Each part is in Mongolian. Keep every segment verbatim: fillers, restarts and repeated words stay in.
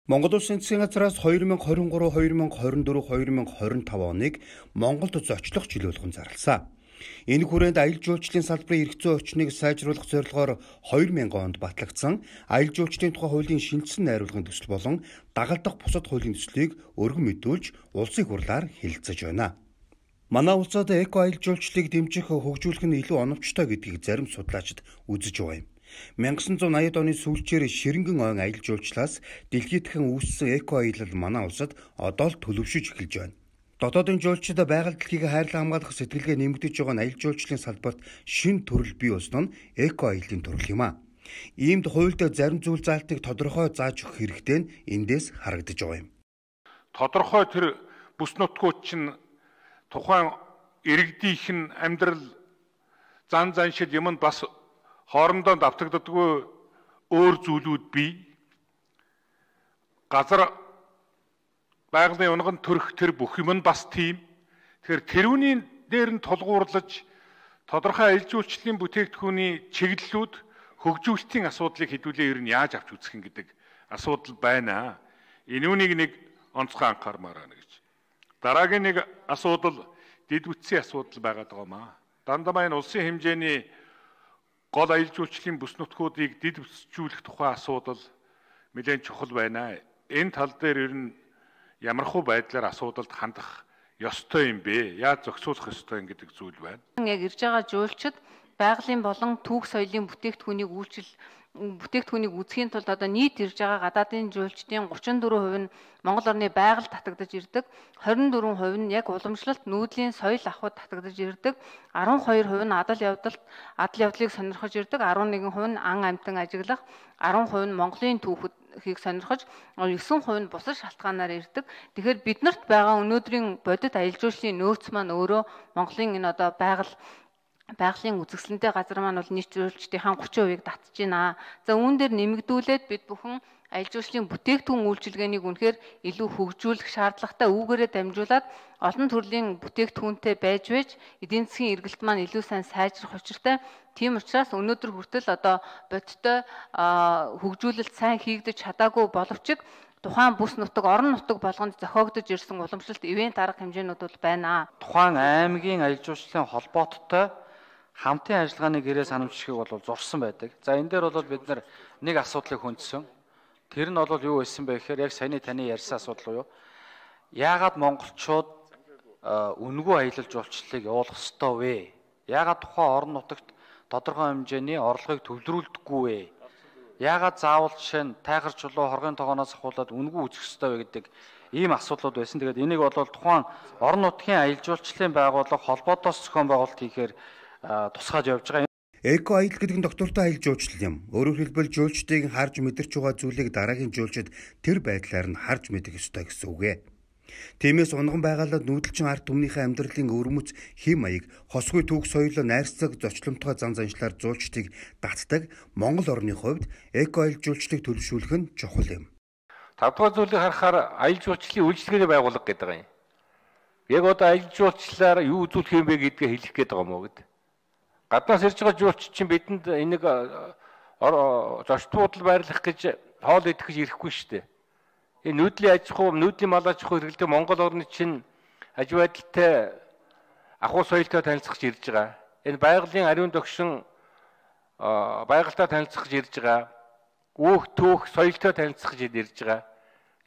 Монгол Улсын засгийн газраас хоёр мянга хорин гурав, хоёр мянга хорин дөрөв, хоёр мянга хорин тав оныг Монголд зочлох жил болгон зарласан. Энэ хүрээнд аялал жуулчлалын салбарын эрх зүйн орчныг сайжруулах зорилгоор хоёр мянган онд батлагдсан аялал жуулчлалын тухай хуулийн шинжилсэн найруулгын төсөл болон дагалдах бусад хуулийн төслийг өргөн мэдүүлж улсын хурлаар хэлэлцэж байна. Манай улсад эко аялал жуулчлалыг дэмжих, хөгжүүлэх нь илүү оновчтой гэдгийг зарим судлаачид үзэж байгаа юм. 천구 백팔십 оны сүүлчээр Ширэнгэн ойн аялал жуулчлалаас дэлхийдхэн үүссэн эко аялал манай улсад одоо л төлөвшөж эхэлж байна. Дотоодын жуулчид байгаль дэлхийг хайрлан хамгаалах сэтгэлгээ нэмэгдэж байгаа нь аялал жуулчлалын салбарт шинэ төрөл бий болсон нь эко аяллаа төрөл юм а. Иймд хуульд зарим зүйл заалтыг тодорхой зааж өгөх хэрэгтэй нь эндээс харагдаж байгаа юм. Тодорхой тэр бүс нутгууд чинь тухайн иргэдийнх нь амьдрал зан заншил юмд бас хоорондоо давтагддаггүй өөр зүйлүүд бий. Газар байгалийн унган төрөх тэр бүх юм нь бас тийм. Тэгэхээр тэрүүний дээр нь тулгуурлаж тодорхой аялал жуулчлалын бүтээгдэхүүний чиглэлүүд хөгжүүлэлтийн асуудлыг хэдүүлээ ер нь яаж авч үзэх юм гэдэг асуудал байна. Энүүнийг нэг онцгой анхаармаар байна гэж. Дараагийн нэг асуудал дэд бүтцийн асуудал байгаад байгаа маа. Дандаа энэ улсын хэмжээний гол аялал жуулчлалын бүс нутгуудыг дэд бүтцжүүлэх тухай асуудал нэлээд чухал байна. Энэ тал дээр ер нь ямархуу байдлаар асуудалд хандах ёстой юм бэ? Яаж зохицуулах ёстой юм гэдэг зүйл байна. Яг ирж байгаа жуулчид байгалийн болон түүх соёлын бүтээгдэхүүнийг үйлчил бүтээгдэхүүнийг үзэхийн тулд одоо нийт ирж байгаа гадаадын жуулчдын гучин дөрвөн хувь нь Монгол орны байгальд татагдаж ирдэг, хорин дөрвөн хувь нь яг уламжлалт нүүдлийн соёл авахд татагдаж ирдэг, арван хоёр хувь нь адал явдалт адал явдлыг сонирхож ирдэг, арван нэгэн хувь нь ан амьтан ажиглах, арван хувь нь Монголын түүхийг сонирхож, есөн хувь нь бусад шалтгаанаар ирдэг. Тэгэхээр биднэрт байгаа өнөөдрийн бодит аялал жуулчлалын нөөц маань өөрөө Монголын энэ одоо байгаль байгалийн үзэсгэлэнтэй газар маань бол нийт жуулчдын гучин хувийг татж байна. За үүн дээр нэмэгдүүлээд бид бүхэн аялал жуулчлалын бүтээгдэхүүн үйлчилгээнийг үнэхээр илүү хөгжүүлэх шаардлагатай үүгээрээ дамжуулаад олон төрлийн бүтээгдэхүүнтэй байж байж эдийн засгийн эргэлт маань илүү сайн сайжрах учиртай. Тийм учраас өнөөдөр хүртэл одоо бодиттой хөгжүүлэлт сайн хийгдэж чадаагүй боловч тухайн бүс нутаг, орон нутаг болгонд зохиогдож ирсэн уламжлалт ивент арга хэмжээнүүд бол байна. Тухайн аймгийн аялал жуулчлалын холбооттой хамтын ажиллагааны гэрээ санамжчихыг бол зурсан байдаг. За энэ дээр бол бид нар нэг асуудлыг хүндсэн. Тэр нь бол юу байсан бэ гэхээр яг саяны таны ярьсан асуудал юу? Яагаад монголчууд үнэгүй аялал жуулчлалыг явуулах ёстой вэ? Яагаад тухайн орон нутагт тодорхой хэмжээний орлогыг төвлөрүүлдэггүй вэ? Яагаад заавал жишээ нь тайхар чулуу хоргын тогооноос ахуулаад үнэгүй үзэх ёстой вэ гэдэг ийм асуудлууд байсан. Тэгээд энийг бол тухайн орон нутгийн аялал жуулчлалын байгууллага холбоотоос зохион байгуулалт хийхээр тусгаж явж байгаа. Эко аялал гэдэг нь доктортой аялал жуулчлал юм. Өөрөөр хэлбэл жуулчдыг харж мэдэрч байгаа зүйлийг дараагийн жуулчид тэр байдлаар нь харж мэдэх ёстой гэсэн үг ээ. Тиймээс унган байгaalаад нүүдэлчин ард түмнийхээ амьдралын өвөрмөц хэм маяг, хосгүй түүх соёлоо найрцаг зочломтгой зан заншлаар жуулчдыг татдаг Монгол орны хувьд эко аялал жуулчлалыг төлөвшүүлэх нь чухал юм. Тавдугаар зүйлийг харахаар аялал жуулчлалын үйлчлэгээний байгууллага гэдэг юм. Яг одоо аялал жуулчлалаар юу үзүүлэх юм бэ гэдгээ хэлэх гээд байгаа юм уу гэдэг. Гаднаас ирж байгаа жуулч чинь бидэнд энийг зочд буудал байрлах гэж хоол идэх гэж ирэхгүй шүү дээ. Энэ нүүдлийн аж ахуй, нүүдлийн мал аж ахуй хэрэглэдэг Монгол орны чинь аж байдалтай ахуй соёлтой танилцах гэж ирж байгаа. Энэ байгалийн ариун догшин байгальтай танилцах гэж ирж байгаа. Өөх төөх соёлтой танилцах гэж ирж байгаа.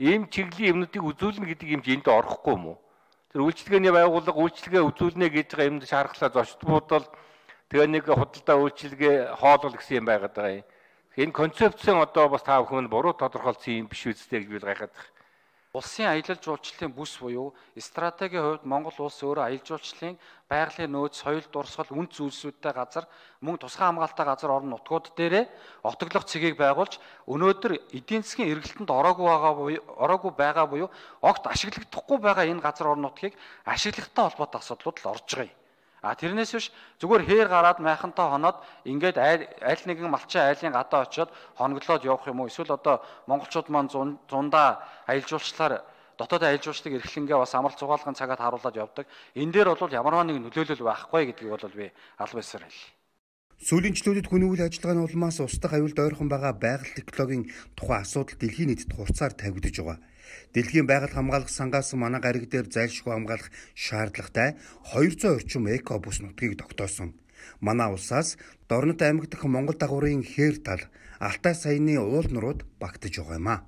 Ийм чиглэлийн юмнуудыг үзүүлнэ гэдэг юм энд орохгүй юм уу? Тэр үйлчлэгээний байгууллага үйлчлэгээ үзүүлнэ гэж байгаа юмд шаархлаа зочд буудал тэгээ нэг худалдаа үйлчилгээ хоолол гэсэн юм байгаад байгаа юм. Энэ концепцэн одоо бас та бүхэн буруу тодорхойлсон юм биш үстэй гэж би гайхаад байна. Улсын аялал жуулчлалын бүс буюу стратегийн хувьд Монгол улс өөрөө аялал жуулчлалын байгалийн нөөц, соёл, дурсгал, үнд зүйлсүүдтэй газар, мөн тусгай хамгаалалттай газар орон нутгууд дээрээ отоглох цэгийг байгуулж өнөөдөр эдийн засгийн эргэлтэнд ороогүй байгаа буюу ороогүй байгаа буюу огт ашиглагдахгүй байгаа энэ газар орон нутгийг ашиглагтай холбоотой асуудлууд л орж байгаа юм. А тэрнээс биш зүгээр хээр гараад майхантай хоноод ингээд аль нэгэн малчин айлын гадаа очиод хоноглоод явах юм уу? Эсвэл одоо монголчууд маань зундаа аялал жуулчлалаар дотоод аялал жуулчлалыг эрхлэнгээ бас амралт зугаалгын цагаад харуулад явдаг. Энэ дээр бол ямарваа нэг нөлөөлөл байхгүй гэдгийг бол би албасаар хэлье. Сүүлэнчлүүдэд хүний үйл ажиллагааны улмаас устдах аюулд ойрхон байгаа байгаль экологийн тухай асуудал дэлхийн нийтэд хурцаар тавигдж байгаа. Дэлхийн байгаль хамгаалах сангаас манай гариг дээр зайлшгүй хамгаалах шаардлагатай двести орчим эко бус нутгийг тогтоосон. Манай улсаас Дорнот аймаг дахь Монгол дагуурын хээр тал Алтай саяны уул нурууд багтаж байгаа юм а.